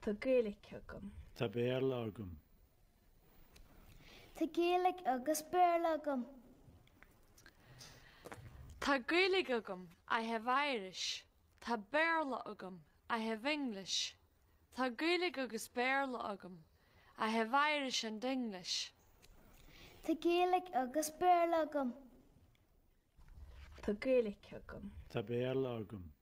Tá Gaeilge agam. Tá Béarla agam. Tá Gaeilge agus Béarla agam. Tá Gaeilge agam, I have Irish. Tá Béarla agam, I have English. Tá Gaeilge agus Béarla agam, I have Irish and English. Tá Gaeilge agus Béarla agam. Tá Gaeilge agam. Tá Béarla agam.